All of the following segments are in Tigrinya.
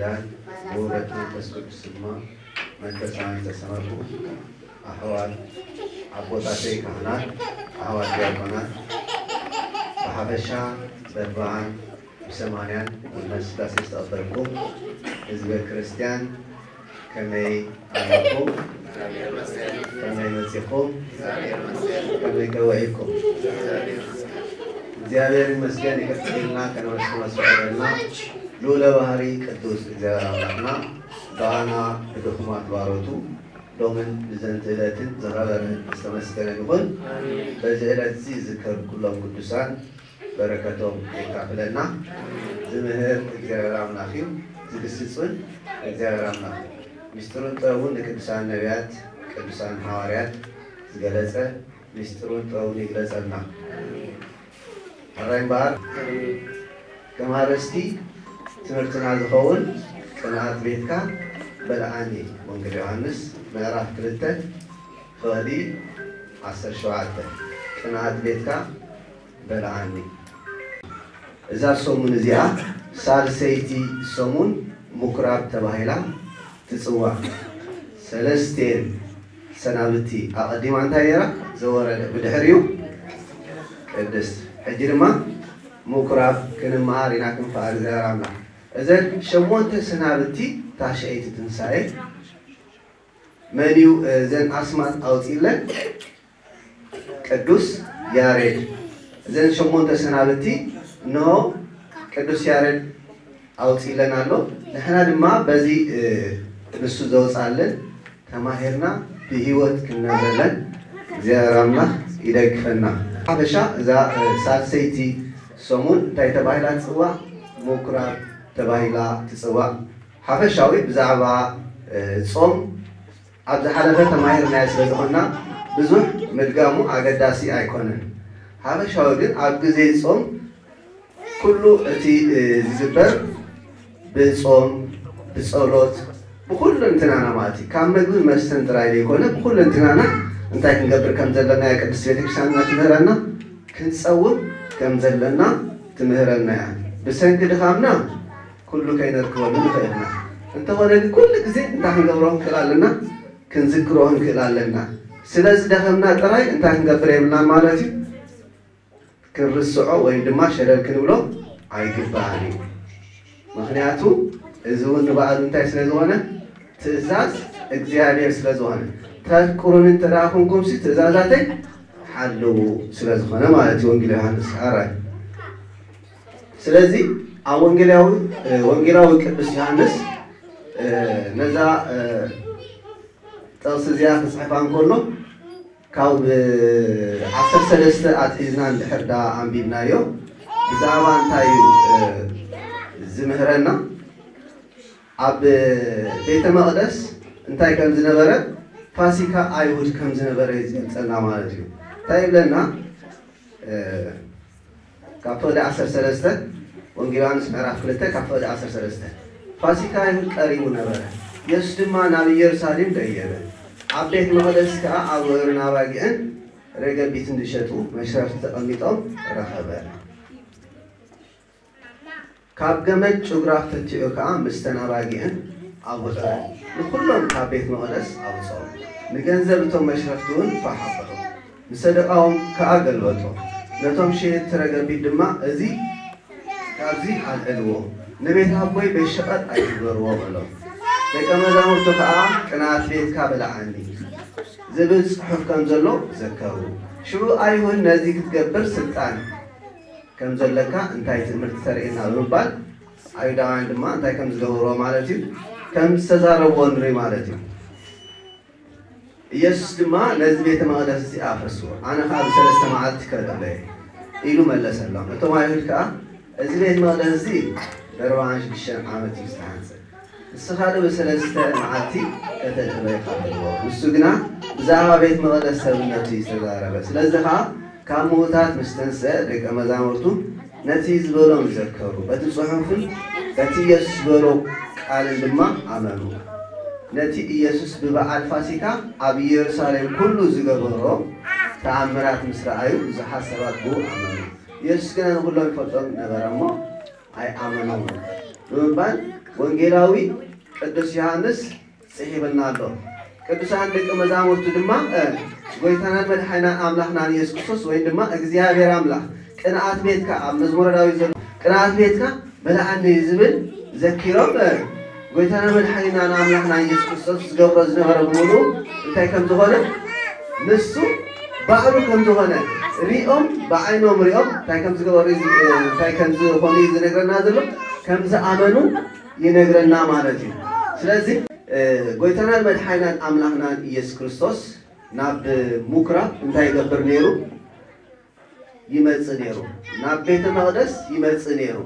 ዳን ብውህበት መንፈስ ቅዱስ ድማ መንፈሳውያን ዝተሰመርኩ ኣሕዋት ኣቦታተይ ካህናት፣ ኣሕዋት ዲያቆናት፣ ብሓፈሻ በርባን ብሰማንያን ውልነ ስላሴ ዝተቐበልኩም ህዝበ ክርስቲያን ከመይ ኣለኩም? ከመይ መጺኹም? ከመይ ከውዒልኩም? እግዚኣብሔር ይመስገን። ይቅርታ ኢልና ከነመስግኖ ዝፈቀደልና ልዑለ ባህሪ ቅዱስ እግዚኣብሔር ኣምላኽና ብኣና ብድኹማት ባሮቱ ሎምን ብዘንቲ ዕለትን ዝኸበረ ዝተመስገነ ይኹን። በዚ ዕለት እዚ ዝዝከሩ ኩሎም ቅዱሳን በረከቶም የካፍለና። ዝምህር እግዚኣብሔር ኣምላኽ እዩ፣ ዝግስጽ እውን እግዚኣብሔር ኣምላኽ እዩ። ምስጢሩን ጥበቡን ንቅዱሳን ነቢያት፣ ቅዱሳን ሃዋርያት ዝገለጸ ምስጢሩን ጥበቡን ይግለጸልና። ሕራይ እምበኣር፣ ከም ኣርእስቲ ትምህርትና ዝኸውን ቅንኣት ቤትካ በልዓኒ፣ ወንጌል ዮሃንስ ምዕራፍ ክልተ ፍቕዲ ዓሰርተ ሸውዓተ። ቅንኣት ቤትካ በልዓኒ። እዛ ሰሙን እዚኣ ሳልሰይቲ ሰሙን ምኩራብ ተባሂላ ትጽዋዕ። ሰለስቴን ሰናብቲ ኣቐዲማ እንታይ ነይራ? ዘወረደ። ብድሕሪኡ ቅድስት። ሕጂ ድማ ምኩራብ ክንመሃር ኢና፣ ክንፈኣር እግዚኣብሔር ኣምላኽ። እዘን ሸሞንተ ሰናብቲ ታሽዐይቲ ትንሳኤ መን እዩ፣ እ፣ እዘን ኣስማት ኣውጺለን? ቅዱስ ያሬድ። እዘን ሸሞንተ ሰናብቲ እንሆ ቅዱስ ያሬድ ኣውጺለን ኣሎ። ንሕና ድማ በዚ፣ እ፣ ንሱ ዘውጻልን ተማሂርና ብህይወት ክንነብረለን እግዚኣብሔር ኣምላኽ ይደግፈና። ሓፈሻ እዛ፣ እ፣ ሳልሰይቲ ሰሙን እንታይ ተባሂላ ትጽዋዕ? ምኩራብ ተባሂላ ትጽዋዕ። ሓፈሻዊ ብዛዕባ፣ እ፣ ጾም ኣብ ዝሓለፈ ተማሂርናዮ ስለ ዝኾንና ብዙሕ ምድጋሙ ኣገዳሲ ኣይኮነን። ሓፈሻዊ ግን ኣብ ግዜ ጾም ኩሉ እቲ፣ እ፣ ዝግበር ብጾም፣ ብጸሎት፣ ብኹሉ እንትናና ማለት እዩ። ካብ ምግብን መስተን ጥራይ ዘይኮነ ብኹሉ እንትናና እንታይ ክንገብር ከም ዘለና እያ ቅድስት ቤተክርስትያንና ትምህረና። ክንጸውም ከም ዘለና ትምህረና እያ። ብሰንኪ ድኻምና ኩሉ ከይነርክበሉ ንኽእል ኢና። እንተኾነ ግን ኩሉ ግዜ እንታይ ክንገብሮ ክንክእል ኣለና? ክንዝክሮ ክንክእል ኣለና። ስለ ዝደኸምና ጥራይ እንታይ ክንገብር የብልናን ማለት እዩ? ክንርስዖ ወይም ድማ ሸለል ክንብሎ ኣይግባእን እዩ። ምኽንያቱ እዚ እውን ንባዕሉ እንታይ ስለ ዝኾነ? ትእዛዝ እግዚኣብሔር ስለ ዝኾነ። ተፍቅሩኒ እንተ ደኣ ኮንኩምሲ ትእዛዛተይ ሓልዉ ስለ ዝኾነ ማለት እዩ። ወንጌል ዮሃንስ ኣራይ። ስለዚ ኣብ ወንጌላዊ፣ እ፣ ወንጌላዊ ቅዱስ ዮሃንስ፣ እ፣ ነዛ፣ እ፣ ጥቕሲ እዚኣ ክጽሕፋ እንከሎ ካብ፣ እ፣ ዓሰርተ ሰለስተ ኣትሒዝና እንድሕር ደኣ ኣንቢብናዮ ብዛዕባ እንታይ እዩ፣ እ፣ ዝምህረና? ኣብ ቤተ መቕደስ እንታይ ከም ዝነበረ፣ ፋሲካ ኣይሁድ ከም ዝነበረ እዩ ዝገልጸልና ማለት እዩ። እንታይ ይብለና? እ፣ ካብ ፍቕዲ ዓሰርተ ሰለስተ፣ ወንጌል ዮሃንስ ምዕራፍ ክልተ ካብ ፍቕዲ ዓሰርተ ሰለስተ፣ ፋሲካ ኣይሁድ ቀሪቡ ነበረ። የሱስ ድማ ናብ ኢየሩሳሌም ደየበ። ኣብ ቤት መቕደስ ከኣ ኣብዑርን ኣባጊዕን ረገቢትን ዝሸጡ መሽረፍቲ ተቐሚጦም ረኸበ። ካብ ገመድ ጭጉራ ተቲዑ ከኣ ምስተን ኣባጊዕን ኣብዑረን ንኹሎም ካብ ቤት መቕደስ ኣውጽኦም። ንገንዘብ እቶም መሽረፍቲ እውን ፋሕ ኣበሎ። ንሰደቓኦም ከኣ ገልበጦ። ነቶም ሸየጥቲ ረገቢት ድማ፣ "እዚ ካብዚ ኣልዕልዎ፣ ንቤት ኣቦይ ቤት ሸቐጥ ኣይትግበርዎ" በሎም። ደቀ መዛሙርቱ ከኣ "ቅንኣት ቤትካ በልዓኒ" ዝብል ጽሑፍ ከም ዘሎ ዘከሩ። ሽዑ ኣይሁድ ነዚ ክትገብር ስልጣን ከም ዘለካ እንታይ ትምህርቲ ተርእየና ብምባል ኣይሁዳውያን ድማ እንታይ ከም ዝገበርዎ ማለት እዩ፣ ከም ዝተዛረብዎ ንርኢ ማለት እዩ። ኢየሱስ ድማ ነዚ ቤተ መቕደስ እዚ ኣፍርስዎ፣ ኣነ ኸዓ ብሰለስተ መዓልቲ ከልዕሎ እየ ኢሉ መለሰሎም። እቶም ኣይሁድ ከኣ እዚ ቤት መቕደስ እዚ ብኣርብዓን ሽዱሽተን ዓመት እዩ ዝተሃንጸ። ንስኻ ዶ ብሰለስተ መዓልቲ ከተድህበ ኢኻ በልዎ። ንሱ ግና ብዛዕባ ቤት መቕደስ ሰብነቱ እዩ ዝተዛረበ። ስለዚ ኸኣ ካብ ምዉታት ምስ ተንስአ ደቀ መዛሙርቱ ነቲ ዝበሎም ዘከሩ። በቲ ጽሑፍን በቲ ኢየሱስ ዝበሎ ቃልን ድማ ኣመኑ። ነቲ ኢየሱስ ብበዓል ፋሲካ ኣብ ኢየሩሳሌም ኩሉ ዝገበሮ ተኣምራት ምስ ረኣዩ ብዙሓት ሰባት ብኡ ኣመኑ። ኢየሱስ ግና ንኹሎም ይፈልጦም ነበረ እሞ ኣይኣመኖምን ብምባል ወንጌላዊ ቅዱስ ዮሃንስ ጽሒፍልና ኣሎ። ቅዱሳን ደቂ መዛሙርቱ ድማ ጎይታናን መድሓኒናን ኣምላኽናን ኢየሱስ ክርስቶስ ወይ ድማ እግዚኣብሔር ኣምላኽ ቅንኣት ቤትካ ኣብ መዝሙረ ዳዊት ዘሎ ቅንኣት ቤትካ በልዓኒ ዝብል ዘኪሮም ጎይታና መድሓኒናን ኣምላኽና ኢየሱስ ክርስቶስ ዝገብሮ ዝነበረ ብምሉ እንታይ ከም ዝኾነ ንሱ ባዕሉ ከም ዝኾነ ሪኦም ብዓይኖም ሪኦም እንታይ ከም ዝገበሩ እንታይ ከም ዝኾኑ እዩ ዝነግረና ዘሎ። ከም ዝኣመኑ ይነግረና ማለት እዩ። ስለዚ ጎይታናን መድሓኒናን ኣምላኽናን ኢየሱስ ክርስቶስ ናብ ምኩራብ እንታይ ይገብር ነይሩ? ይመጽእ ነይሩ። ናብ ቤተ መቕደስ ይመጽእ ነይሩ።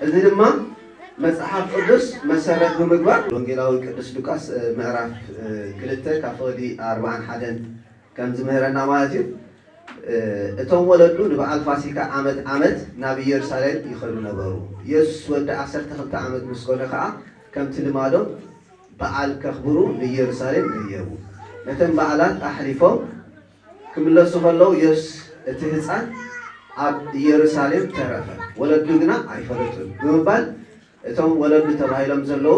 እዚ ድማ መጽሓፍ ቅዱስ መሰረት ብምግባር ወንጌላዊ ቅዱስ ሉቃስ ምዕራፍ ክልተ ካብ ፍቕዲ ኣርባዓን ሓደን ከም ዝምህረና ማለት እዩ። እቶም ወለዱ ንበዓል ፋሲካ ዓመት ዓመት ናብ ኢየሩሳሌም ይኸዱ ነበሩ። ኢየሱስ ወዲ ዓሰርተ ክልተ ዓመት ምስ ኮነ ኸዓ ከምቲ ልማዶም በዓል ከኽብሩ ንኢየሩሳሌም ደየቡ። ነተን በዓላት ኣሕሊፎም ክምለሱ ከለዉ ኢየሱስ እቲ ህፃን ኣብ ኢየሩሳሌም ተረፈ፣ ወለዱ ግና ኣይፈለጡን ብምባል እቶም ወለዱ ተባሂሎም ዘለዉ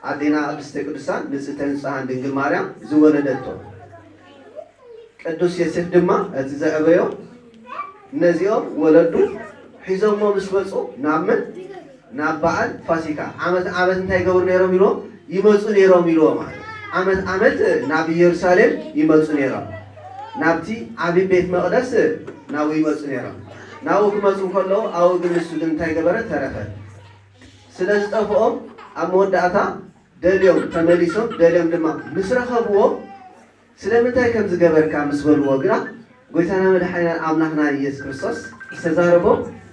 ኣዴና ቅድስተ ቅዱሳን ንጽሕተ ንጹሓን ድንግል ማርያም ዝወለደቶ ቅዱስ ዮሴፍ ድማ እቲ ዘዕበዮ ነዚኦም ወለዱ ሒዞሞ ምስ መጹ ናብ መን ናብ በዓል ፋሲካ ዓመት ዓመት እንታይ ይገብሩ ነይሮም ኢልዎም ይመጹ ነይሮም ኢልዎም ማለት ዓመት ዓመት ናብ ኢየሩሳሌም ይመጹ ነይሮም ናብቲ ዓቢ ቤት መቕደስ ናብኡ ይመጹ ነይሮም ናብኡ ክመጹ ከለዉ ኣብኡ ግን ንሱ ግን እንታይ ገበረ ተረፈ ስለ ዝጠፍኦም ኣብ መወዳእታ ደልዮም ተመሊሶም ደልዮም ድማ ምስ ረኸብዎ ስለምንታይ ከም ዝገበርካ ምስ በልዎ ግና ጎይታና መድሓኒናን ኣምላኽና ኢየሱስ ክርስቶስ ዝተዛረቦ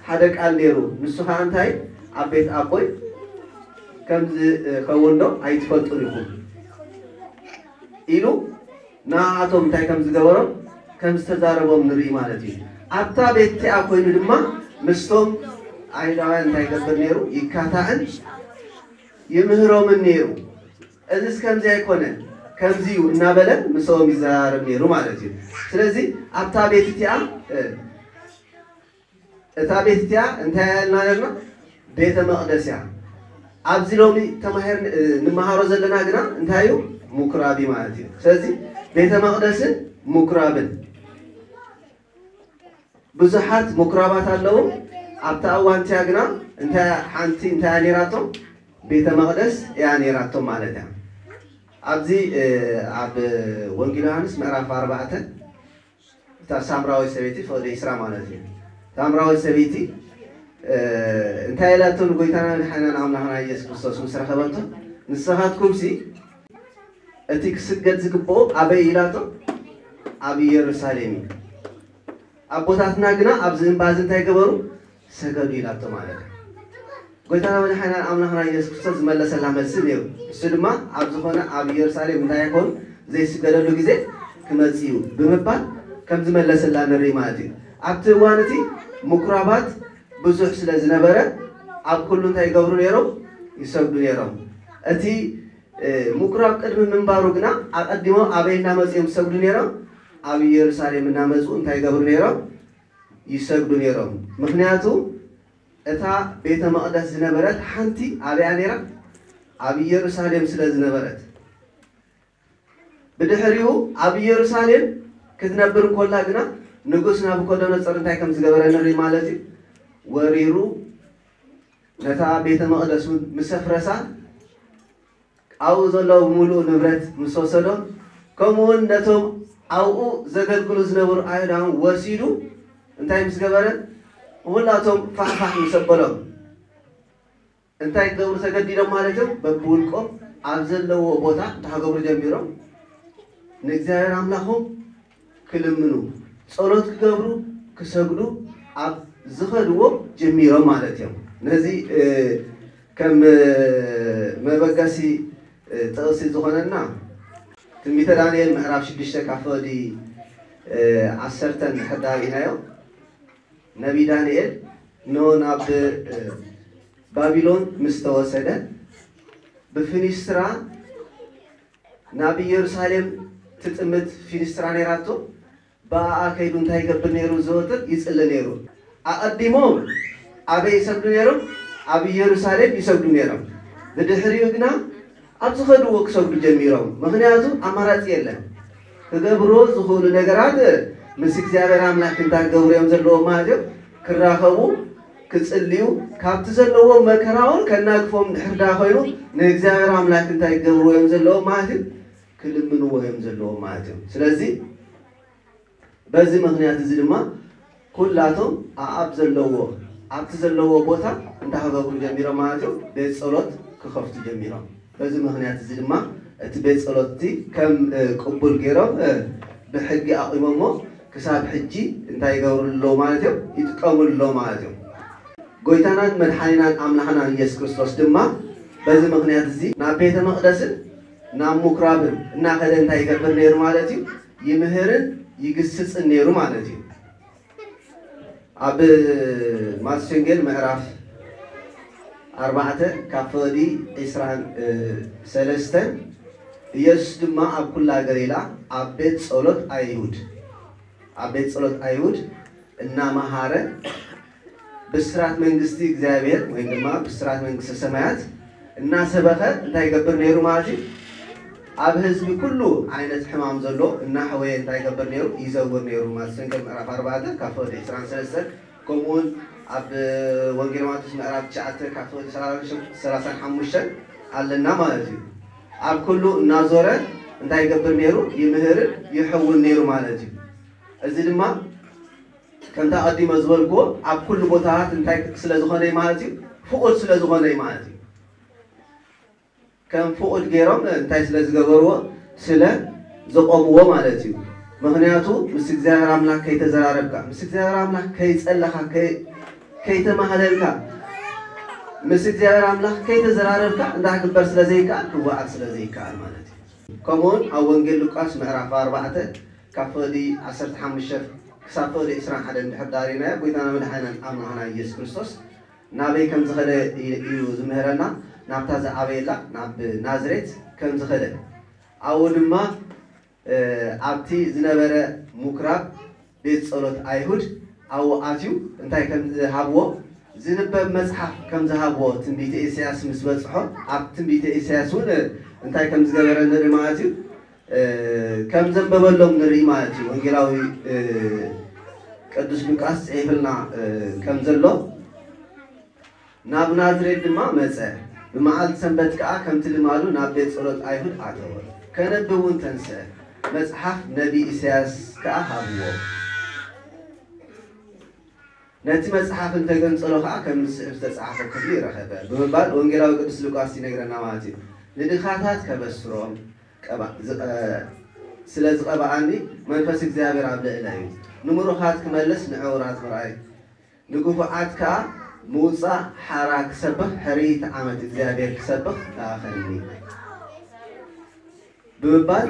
ሓደ ቃል ነይሩ ንሱ ከዓ እንታይ ኣብ ቤት ኣቦይ ከም ዝኸውን ዶ ኣይትፈልጡን ኢኹም ኢሉ ንኣቶም እንታይ ከም ዝገበሮም ከም ዝተዛረቦም ንርኢ ማለት እዩ ኣብታ ቤት እቲኣ ኮይኑ ድማ ምስቶም ኣይሁዳውያን እንታይ ይገብር ነይሩ ይካታዕን ይምህሮምን ነይሩ እዚስ ከምዚ ኣይኮነ ከምዚ እዩ እናበለ ምስኦም ይዘራረብ ነይሩ ማለት እዩ ስለዚ ኣብታ ቤት እቲኣ እታ ቤት እቲኣ እንታይ ያልና ነርና ቤተ መቕደስ እያ ኣብዚ ሎሚ ተማሂር ንመሃሮ ዘለና ግና እንታይ እዩ ምኩራብ ማለት እዩ ስለዚ ቤተ መቕደስን ምኩራብን ብዙሓት ምኩራባት ኣለዉ ኣብታ እዋን እቲኣ ግና እንታይ ሓንቲ እንታይ እያ ነይራቶም ቤተ መቕደስ እያ ነይራቶም ማለት እያ ኣብዚ ኣብ ወንጌል ዮሃንስ ምዕራፍ ኣርባዕተ እታ ሳምራዊት ሰበይቲ ፍቕዲ ዒስራ ማለት እዩ ሳምራዊት ሰበይቲ እንታይ ኢላቶ ንጎይታና ንሓናን ኣምላኽና ኢየሱስ ክርስቶስ ምስ ረኸበቶ ንስኻትኩምሲ እቲ ክስገድ ዝግብኦ ኣበይ ኢላቶ ኣብ ኢየሩሳሌም እዩ ኣቦታትና ግና ኣብዚ እምባ እዚ እንታይ ገበሩ ሰገዱ ኢላቶ ማለት እዩ ጎይታና መድሓኒናን ኣምላኽና ኢየሱስ ክርስቶስ ዝመለሰላ መልሲ ነይሩ እሱ ድማ ኣብ ዝኾነ ኣብ ኢየሩሳሌም እንታይ ይኾኑ ዘይስገደሉ ግዜ ክመጽእ እዩ ብምባል ከም ዝመለሰላ ንርኢ ማለት እዩ ኣብቲ እዋን እቲ ምኩራባት ብዙሕ ስለ ዝነበረ ኣብ ኩሉ እንታይ ይገብሩ ነይሮም ይሰግዱ ነይሮም እቲ ምኩራብ ቅድሚ ምንባሩ ግና ኣቐዲሞም ኣበይ እናመፁ እዮም ዝሰግዱ ነይሮም ኣብ ኢየሩሳሌም እናመፁ እንታይ ይገብሩ ነይሮም ይሰግዱ ነይሮም ምኽንያቱ እታ ቤተ መቕደስ ዝነበረት ሓንቲ ኣበያ ነይራ ኣብ ኢየሩሳሌም ስለ ዝነበረት ብድሕሪኡ ኣብ ኢየሩሳሌም ክትነብር እንኮላ ግና ንጉስ ናቡኮደነጾር እንታይ ከም ዝገበረ ንርኢ ማለት እዩ ወሪሩ ነታ ቤተ መቕደስ እውን ምስ ኣፍረሳ ኣብኡ ዘለዉ ብምሉኡ ንብረት ምስ ወሰዶም ከምኡውን ነቶም ኣብኡ ዘገልግሉ ዝነበሩ ኣይሁዳውን ወሲዱ እንታይ ምስ ገበረ ኩላቶም ፋሕፋሕ ምስ ኣበሎም እንታይ ክገብሩ ተገዲዶም ማለት እዮም በብውልቆም ኣብ ዘለዎ ቦታ እንታይ ክገብሩ ጀሚሮም ንእግዚኣብሔር ኣምላኾም ክልምኑ ጸሎት ክገብሩ ክሰግዱ ኣብ ዝኸድዎ ጀሚሮም ማለት እዮም ነዚ ከም መበገሲ ጥቕሲ ዝኾነና ትንቢተ ዳንኤል ምዕራፍ ሽዱሽተ ካብ ፍቕዲ ዓሰርተ እንድሕር ዳርኢናዮ ነቢ ዳንኤል ኖ ናብ ባቢሎን ምስ ተወሰደ ብፊኒስትራ ናብ ኢየሩሳሌም ትጥምት ፊኒስትራ ነይራቶ ብኣኣ ከይዱ እንታይ ይገብር ነይሩ ዘወትር ይጽሊ ነይሩ ኣቐዲሞም ኣበይ ይሰግዱ ነይሮም? ኣብ ኢየሩሳሌም ይሰግዱ ነይሮም። ብድሕሪኡ ግና ኣብ ዝኸድዎ ክሰግዱ ጀሚሮም። ምኽንያቱ ኣማራጺ የለን። ክገብርዎ ዝኽእሉ ነገራት ምስ እግዚኣብሔር ኣምላኽ እንታይ ክገብሩ እዮም ዘለዎም ማለት እዮም? ክራኸቡ፣ ክጽልዩ፣ ካብቲ ዘለዎም መከራ እውን ከናግፎም ድሕር ዳ ኮይኑ ንእግዚኣብሔር ኣምላኽ እንታይ ክገብርዎ እዮም ዘለዎም ማለት እዩ? ክልምንዎ እዮም ዘለዎም ማለት እዮም። ስለዚ በዚ ምኽንያት እዚ ድማ ኩላቶም ኣኣብ ዘለዎ ኣብቲ ዘለዎ ቦታ እንታይ ክገብሩ ጀሚሮም ማለት እዩ? ቤት ጸሎት ክኸፍቱ ጀሚሮም። በዚ ምኽንያት እዚ ድማ እቲ ቤት ጸሎት እቲ ከም ቅቡል ገይሮም ብሕጊ ኣቑሞሞ ክሳብ ሕጂ እንታይ ይገብሩ ኣለዉ ማለት እዮም? ይጥቀምሉ ኣለዉ ማለት እዮም። ጎይታናን መድሓኒናን ኣምላኽናን ኢየሱስ ክርስቶስ ድማ በዚ ምኽንያት እዚ ናብ ቤተ መቕደስን ናብ ምኩራብን እናኸደ እንታይ ይገብር ነይሩ ማለት እዩ? ይምህርን ይግስጽን ነይሩ ማለት እዩ። ኣብ ማቴዎስ ወንጌል ምዕራፍ ኣርባዕተ ካብ ፍቕዲ ዒስራን ሰለስተን፣ ኢየሱስ ድማ ኣብ ኩላ ገሊላ ኣብ ቤት ጸሎት ኣይሁድ ኣብ ቤት ጸሎት ኣይሁድ እናመሃረ ብስራት መንግስቲ እግዚኣብሔር ወይ ድማ ብስራት መንግስቲ ሰማያት እናሰበኸ እንታይ ይገብር ነይሩ ማለት እዩ? ኣብ ህዝቢ ኩሉ ዓይነት ሕማም ዘሎ እናሐወየ እንታይ ይገብር ነይሩ? ይዘውር ነይሩ። ማቴዎስ ወንጌል ምዕራፍ ኣርባዕተ ካብ ፍቕዲ ዒስራን ሰለስተን፣ ከምኡውን ኣብ ወንጌል ማቴዎስ ምዕራፍ ትሽዓተ ካብ ፍቕዲ ሰላሳን ሓሙሽተን ኣለና ማለት እዩ። ኣብ ኩሉ እናዞረ እንታይ ይገብር ነይሩ? ይምህርን ይሐውን ነይሩ ማለት እዩ። እዚ ድማ ከምታ ቀዲመ ዝበልክዎ ኣብ ኩሉ ቦታታት እንታይ ስለ ዝኾነ እዩ ማለት እዩ? ፍቑድ ስለ ዝኾነ እዩ ማለት እዩ። ከም ፍቑድ ገይሮም እንታይ ስለ ዝገበርዎ? ስለ ዘቆምዎ ማለት እዩ። ምኽንያቱ ምስ እግዚኣብሔር ኣምላኽ ከይተዘራረብካ፣ ምስ እግዚኣብሔር ኣምላኽ ከይጸለኻ፣ ከይ- ከይተማህለልካ፣ ምስ እግዚኣብሔር ኣምላኽ ከይተዘራረብካ እንታይ ክግበር ስለ ዘይከኣል? ክወዓል ስለ ዘይከኣል ማለት እዩ። ከምኡውን ኣብ ወንጌል ሉቃስ ምዕራፍ ኣርባዕተ ካብ ፍቕዲ ዓሰርተ ሓሙሽተ ክሳብ ፍቕዲ ዕስራን ሓደን እንድሕር ዳሪናዮ፣ ጎይታና መድሓኒናን ኣምላኽና ኢየሱስ ክርስቶስ ናበይ ከም ዝኸደ እዩ ዝምህረና። ናብታ ዝዓበየላ ናብ ናዝሬት ከም ዝኸደ፣ ኣብኡ ድማ ኣብቲ ዝነበረ ምኩራብ ቤት ጸሎት ኣይሁድ ኣብኡ ኣትዩ እንታይ ከም ዝሃብዎ፣ ዝንበብ መጽሓፍ ከም ዝሃብዎ ትንቢተ ኢሳያስ ምስ በጽሖ፣ ኣብ ትንቢተ ኢሳያስ እውን እንታይ ከም ዝገበረ ንርኢ ማለት እዩ። ከም ዘንበበሎም ንርኢ ማለት እዩ። ወንጌላዊ ቅዱስ ሉቃስ ጽሒፍልና ከም ዘሎ፣ ናብ ናዝሬት ድማ መጸ። ብመዓልቲ ሰንበት ከኣ ከምቲ ልማዱ ናብ ቤት ጸሎት ኣይሁድ ኣተወ። ከነብብ እውን ተንስአ። መጽሓፍ ነቢ ኢሳያስ ከኣ ሃብዎ። ነቲ መጽሓፍ እንተገንጸሎ ከኣ ከም ዝስዕብ ዝተጻሕፈ ክፍሊ ረኸበ ብምባል ወንጌላዊ ቅዱስ ሉቃስ ይነግረና ማለት እዩ። ንድኻታት ከበስሮም ቀባ- ዝቐ- ስለ ዝቐብኣኒ መንፈስ እግዚኣብሔር ኣብ ልዕለይ እዩ። ንምሩኻት ክመልስ፣ ንዕውራት ምርኣይ፣ ንግፉዓት ከኣ ምውጻእ ሓራ ክሰብኽ፣ ሕርይቲ ዓመት እግዚኣብሔር ክሰብኽ ለኣኸኒ ብምባል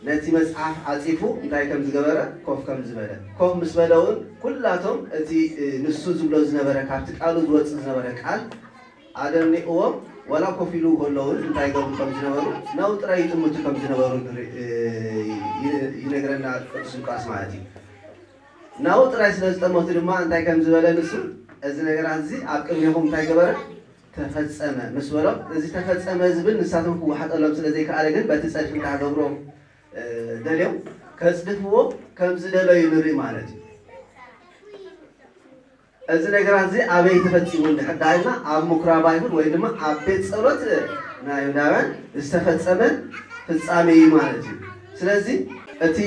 ነቲ መጽሓፍ ዓጺፉ እንታይ ከም ዝገበረ ኮፍ ከም ዝበለ። ኮፍ ምስ በለ እውን ኩላቶም እቲ ንሱ ዝብሎ ዝነበረ ካብቲ ቃሉ ዝወጽእ ዝነበረ ቃል ኣደኒቕዎም ዋላ ኮፍ ኢሉ ከለውን እንታይ ይገብሩ ከም ዝነበሩ ናብኡ ጥራይ ይጥምቱ ከም ዝነበሩ ይነግረና ቅዱስ ሉቃስ ማለት እዩ። ናብኡ ጥራይ ስለ ዝጠመቱ ድማ እንታይ ከም ዝበለ ንሱ እዚ ነገራት እዚ ኣብ ቅድሜኹም እንታይ ገበረ ተፈጸመ ምስ በሎም፣ እዚ ተፈጸመ ዝብል ንሳቶም ክወሓጠሎም ስለ ዘይከኣለ ግን በቲ ጸድፊ እንታይ ገብሮም ደልዮም ከጽድፍዎ ከም ዝደለዩ ንርኢ ማለት እዩ። እዚ ነገራት እዚ ኣበይ ተፈጺሙ እንድሕር ዳኢልና ኣብ ምኩራብ ኣይሁድ ወይ ድማ ኣብ ቤት ጸሎት ናይ ኣይሁዳውያን ዝተፈጸመ ፍጻሜ እዩ ማለት እዩ። ስለዚ እቲ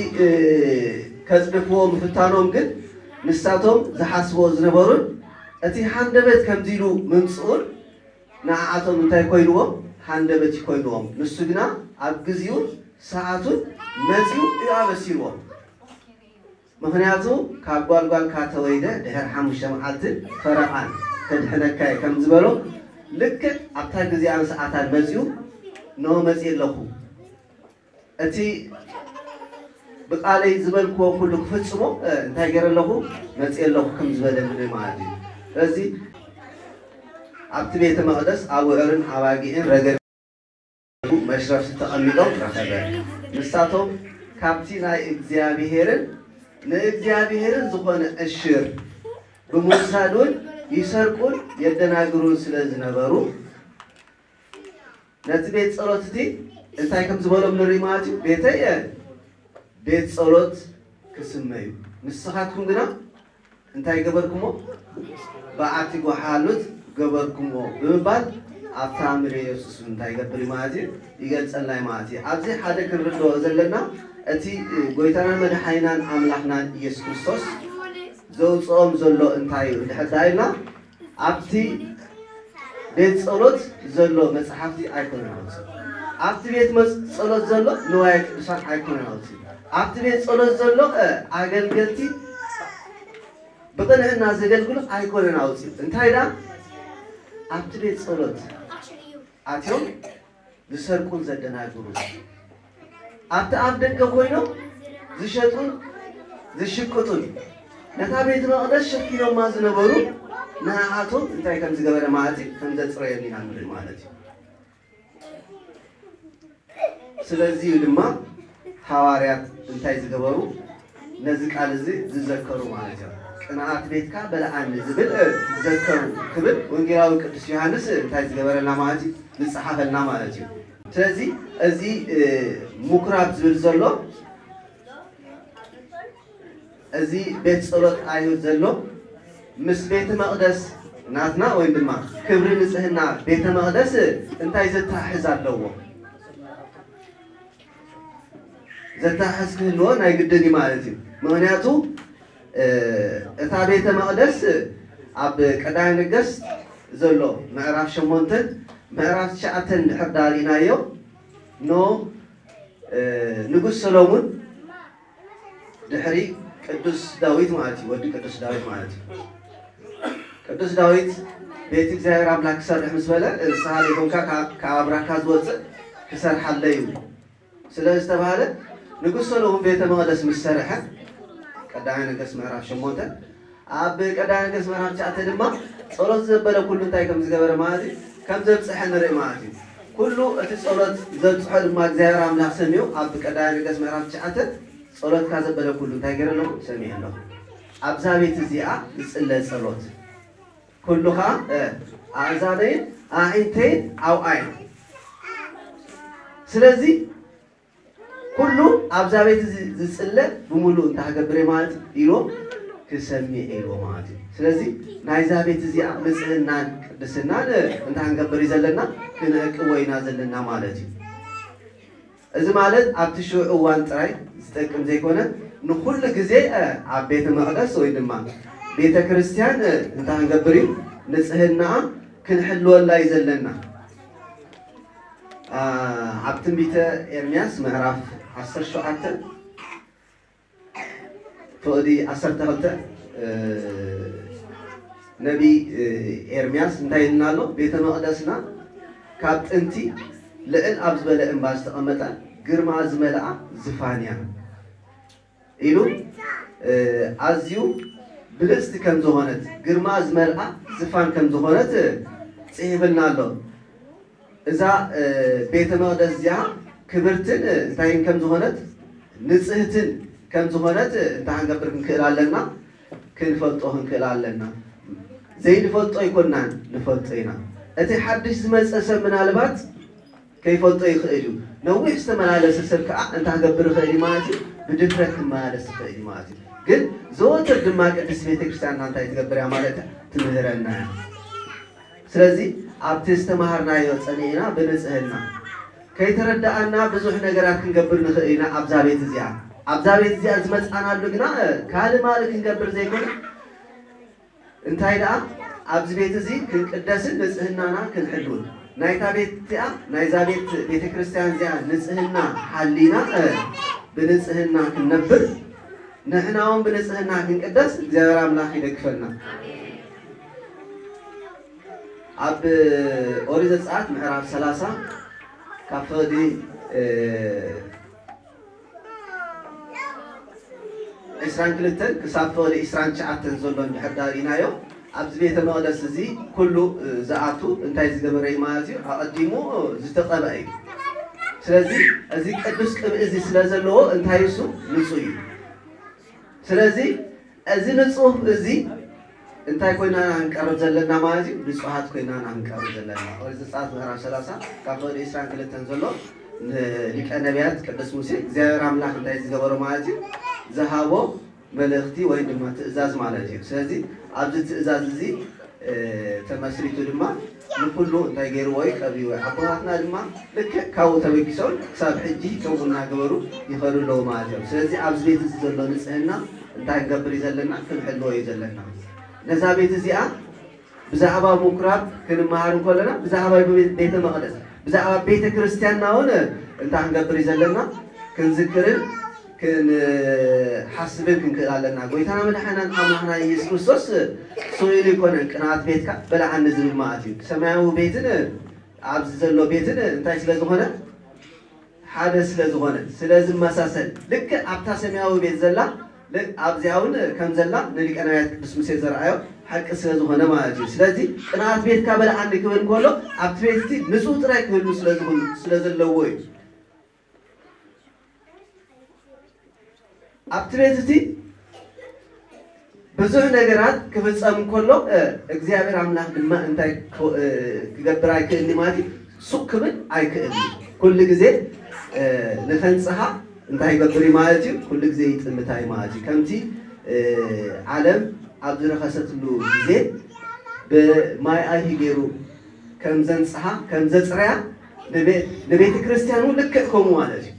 ከጽድፍዎ ምፍታኖም ግን ንሳቶም ዝሓስብዎ ዝነበሩን እቲ ሃንደበት ከምዚ ኢሉ ምምጽኡን ንዓዓቶም እንታይ ኮይንዎም? ሃንደበት ይኮይንዎም። ንሱ ግና ኣብ ግዜኡን ሰዓቱን መጺኡ እዩ ኣበሲርዎም። ምኽንያቱ ካብ ጓልጓል ካተወይደ ድሕር ሓሙሽተ መዓልትን ፈረቓን ከድሕነካ እየ ከም ዝበሎ ልክዕ ኣብታ ግዜኣን ሰዓታን መጺኡ ኖ መጺ ኣለኹ እቲ ብቃለይ ዝበልክዎ ኩሉ ክፍጽሞ እንታይ ገይረ ኣለኹ መጽየ ኣለኹ ከም ዝበለ ንርኢ ማለት እዩ። ስለዚ ኣብቲ ቤተ መቕደስ ኣውዕርን ኣባጊዕን ረገ መሽረፍቲ ተቐሚጦም ረኸበ። ንሳቶም ካብቲ ናይ እግዚኣብሄርን ንእግዚኣብሄርን ዝኾነ ዕሽር ብምውሳድ እውን ይሰርቁን የደናግሩን ስለ ዝነበሩ፣ ነቲ ቤት ጸሎት እቲ እንታይ ከም ዝበሎም ንርኢ ማለት እዩ። ቤተየ ቤት ጸሎት ክስመ እዩ፣ ንስኻትኩም ግና እንታይ ገበርኩሞ? በዓቲ ጓሓሉት ገበርኩሞ ብምባል ኣብታ ምድሪ ኢየሱስ እንታይ ይገብር እዩ ማለት እዩ? ይገልጸልና እዩ ማለት እዩ። ኣብዚ ሓደ ክንርድኦ ዘለና፣ እቲ ጎይታናን መድሓኒናን ኣምላኽናን ኢየሱስ ክርስቶስ ዘውፅኦም ዘሎ እንታይ እዩ እንድሕር ዳኢልና፣ ኣብቲ ቤት ጸሎት ዘሎ መጽሓፍቲ ኣይኮነን ኣውፅኡ። ኣብቲ ቤት መጽ- ጸሎት ዘሎ ንዋየ ቅዱሳን ኣይኮነን ኣውፅኡ። ኣብቲ ቤት ጸሎት ዘሎ እ፣ ኣገልገልቲ ብቕንዕና ዘገልግሉ ኣይኮነን ኣውፅኡ። እንታይ ደኣ ኣብቲ ቤት ጸሎት ኣትዮም ዝሰርቁን ዘደናግሩ፣ ኣብቲ ኣብ ደገ ኮይኖም ዝሸጡን ዝሽቅጡን፣ ነታ ቤት መቕደስ ሸፊኖማ ዝነበሩ ንዓኣቶም እንታይ ከም ዝገበረ ማለት እዩ፣ ከም ዘጽረዮም ኢና ንርኢ ማለት እዩ። ስለዚ እዩ ድማ ሃዋርያት እንታይ ዝገበሩ? ነዚ ቃል እዚ ዝዘከሩ ማለት እዮም። ቅንኣት ቤትካ በልዓኒ ዝብል ዝዘከሩ ክብል ወንጌላዊ ቅዱስ ዮሃንስ እንታይ ዝገበረልና ማለት እዩ? ዝጸሓፈልና ማለት እዩ። ስለዚ እዚ እ፣ ምኩራብ ዝብል ዘሎ፣ እዚ ቤት ጸሎት ኣይሁድ ዘሎ ምስ ቤተ መቕደስ ናትና ወይ ድማ ክብሪ ንጽህና ቤተ መቕደስ እንታይ ዘተሓሕዝ ኣለዎ? ዘተሓሕዝ ክህልዎ ናይ ግድን እዩ ማለት እዩ። ምኽንያቱ እ፣ እታ ቤተ መቕደስ ኣብ ቀዳማይ ነገስት ዘሎ ምዕራፍ ሸሞንተን ምዕራፍ ትሽዓተን እንድሕር ዳሪእናዮ ኖ እ፣ ንጉስ ሰሎሙን ድሕሪ ቅዱስ ዳዊት ማለት እዩ፣ ወዲ ቅዱስ ዳዊት ማለት እዩ። ቅዱስ ዳዊት ቤት እግዚኣብሔር ኣምላክ ክሰርሕ ምስ በለ፣ ንስኻ ዘይኮንካ ካብ ካብ ኣብራካ ዝወፅእ ክሰርሓለይ እዩ ስለ ዝተባህለ፣ ንጉስ ሰሎሙን ቤተ መቕደስ ምስ ሰርሐ፣ ቀዳማይ ነገስት ምዕራፍ ሸሞንተ፣ ኣብ ቀዳማይ ነገስት ምዕራፍ ትሽዓተ ድማ ጸሎት ዘበለ ኩሉ እንታይ ከም ዝገበረ ማለት እዩ፣ ከም ዘብጽሐ ንርኢ ማለት እዩ። ኩሉ እቲ ጸሎት ዘብጽሖ ድማ እግዚኣብሔር ኣምላኽ ሰሚዑ፣ ኣብ ቀዳማይ ነገስት ምዕራፍ ትሽዓተ ጸሎትካ ዘበለ ኩሉ እንታይ ገይረ ኣለኹ? ሰሚዐ ኣለኹ። ኣብዛ ቤት እዚኣ ዝጽለ ጸሎት ኩሉ ኸኣ እ፣ ኣእዛነይን ኣዒንተይን ኣብኣ እየን። ስለዚ ኩሉ ኣብዛ ቤት እዚ ዝጽለ ብምሉእ እንታይ ክገብር እየ ማለት እዩ ኢልዎም፣ ክሰሚዕ እየ ኢልዎ ማለት እዩ። ስለዚ ናይዛ ቤት እዚኣ ንጽህናን ቅድስናን እንታይ ክንገብር እዩ ዘለና? ክንዕቅቦ ኢና ዘለና ማለት እዩ። እዚ ማለት ኣብቲ ሽዑ እዋን ጥራይ ዝጠቅም ዘይኮነ ንኹሉ ግዜ እ፣ ኣብ ቤተ መቕደስ ወይ ድማ ቤተ ክርስቲያን እ፣ እንታይ ክንገብር እዩ? ንጽህናኣ ክንሕልወላ እዩ ዘለና። ኣ፣ ኣብ ትንቢተ ኤርምያስ ምዕራፍ ዓሰርተ ሸውዓተ ፍቕዲ ዓሰርተ ክልተ እ፣ ነቢ እ፣ ኤርምያስ እንታይ ኢልና ኣሎ? ቤተ መቕደስና ካብ ጥንቲ ልዕል ኣብ ዝበለ እምባ ዝተቐመጠ ግርማ ዝመልኣ ዝፋን እያ ኢሉ እ፣ ኣዝዩ ብልጽቲ ከም ዝኾነት ግርማ ዝመልኣ ዝፋን ከም ዝኾነት እ፣ ጽሒፍልና ኣሎ። እዛ እ፣ ቤተ መቕደስ እዚኣ ክብርትን እ፣ እንታይን ከም ዝኾነት ንጽህትን ከም ዝኾነት እ፣ እንታይ ክንገብር ክንክእል ኣለና? ክንፈልጦ ክንክእል ኣለና። ዘይንፈልጦ ኣይኮናን፣ ንፈልጦ ኢና። እቲ ሓድሽ ዝመጸ ሰብ ምናልባት ከይፈልጦ ይኽእል እዩ። ነዊሕ ዝተመላለሰ ሰብ ከዓ እንታይ ክገብር ይኽእል እዩ ማለት እዩ? ብድፍረት ክመላለስ ይኽእል እዩ ማለት እዩ። ግን ዘወትር ድማ ቅድስት ቤተ ክርስቲያንና እንታይ ትገብር እያ ማለት እያ? ትምህረና እያ። ስለዚ ኣብቲ ዝተምሃርናዮ ጸኒዕና ብንጽህና ከይተረድኣና ብዙሕ ነገራት ክንገብር ንኽእል ኢና። ኣብዛ ቤት እዚኣ ኣብዛ ቤት እዚኣ ዝመጻናሉ ግና ካልእ ማልእ ክንገብር ዘይኮነ እንታይ ደኣ ኣብዚ ቤት እዚ ክንቅደስን ንጽህናና ክንሕልውን ናይታ ቤት እቲኣ ናይዛ ቤት ቤተ ክርስቲያን እዚኣ ንጽህና ሓሊና እ፣ ብንጽህና ክንነብር ንሕና እውን ብንጽህና ክንቅደስ እግዚኣብሔር ኣምላኽ ይደግፈና። ኣብ ኦሪት ዘጸኣት ምዕራፍ ሰላሳ ካብ ፍቕዲ እ፣ ዕስራን ክልተን ክሳብ ፍቕዲ ዕስራን ትሽዓተን ዘሎ እንድሕር ዳሪእናዮ ኣብዚ ቤተ መቕደስ እዚ ኩሉ እ፣ ዝኣቱ እንታይ ዝገበረ እዩ ማለት እዩ? ኣቐዲሙ እ፣ ዝተቐብአ እዩ። ስለዚ እዚ ቅዱስ ቅብኢ እዚ ስለ ዘለዎ እንታይ እሱ ንጹህ እዩ። ስለዚ እዚ ንጹህ እዚ እንታይ ኮይና ኢና ክንቀርብ ዘለና ማለት እዩ? ብፁዓት ኮይና ኢና ክንቀርብ ዘለና። ኦሪት ዘጸኣት ምዕራፍ ሰላሳ ካብ ፍቕዲ ዕስራን ክልተን ዘሎ ንሊቀ ነቢያት ቅዱስ ሙሴ እግዚኣብሔር ኣምላኽ እንታይ ዝገበሮ ማለት እዩ? ዝሃቦ መልእኽቲ ወይ ድማ ትእዛዝ ማለት እዩ። ስለዚ ኣብዚ ትእዛዝ እዚ ተመስሪቱ ድማ ንኩሉ እንታይ ገይርዎ እዩ? ቀቢዎ። ኣቦታትና ድማ ልክዕ ካብኡ ተበጊሶም ክሳብ ሕጂ ከምኡ እናገበሩ ይኸዱ ኣለዉ ማለት እዮም። ስለዚ ኣብዚ ቤት እዚ ዘሎ ንጽህና እንታይ ክንገብር እዩ ዘለና? ክንሕልዎ እዩ ዘለና። ነዛ ቤት እዚኣ ብዛዕባ ምኩራብ ክንመሃር እንከለና ብዛዕባ ቤተ መቕደስ ብዛዕባ ቤተ ክርስቲያንና እውን እንታይ ክንገብር እዩ ዘለና? ክንዝክርን ክንሓስብን ክንክእል ኣለና። ጎይታና መድሓናን ኣምላኽና ኢየሱስ ክርስቶስ ስኢሉ ይኮነን ቅንኣት ቤትካ በላዓኒ ዝብል ማለት እዩ። ሰማያዊ ቤትን ኣብዚ ዘሎ ቤትን እንታይ ስለ ዝኾነ ሓደ ስለ ዝኾነ ስለ ዝመሳሰል ልክዕ ኣብታ ሰማያዊ ቤት ዘላ ኣብዚኣ እውን ከም ዘላ ንሊቀ ነቢያት ቅዱስ ሙሴ ዘርኣዮ ሓቂ ስለ ዝኾነ ማለት እዩ። ስለዚ ቅንኣት ቤትካ በልዓኒ ክብል ከሎ ኣብቲ ቤት እቲ ንጹህ ጥራይ ክህሉ ስለ ዝኽእሉ ስለ ዘለዎ እዩ። ኣብቲ ቤት እቲ ብዙሕ ነገራት ክፍጸም ከሎ እግዚኣብሔር ኣምላኽ ድማ እንታይ ክገብር ኣይክእልኒ ማለት እዩ። ሱቕ ክብል ኣይክእልኒ። ኩሉ ግዜ ንኸንጽሃ እንታይ ይገብር እዩ ማለት እዩ? ኩሉ ግዜ ይጥምታ እዩ ማለት እዩ። ከምቲ ዓለም ኣብ ዝረኸሰትሉ ግዜ ብማይ ኣይሂ ገይሩ ከም ዘንጽሃ ከም ዘጽረያ ንቤተ ክርስቲያን እውን ልክዕ ከምኡ ማለት እዩ።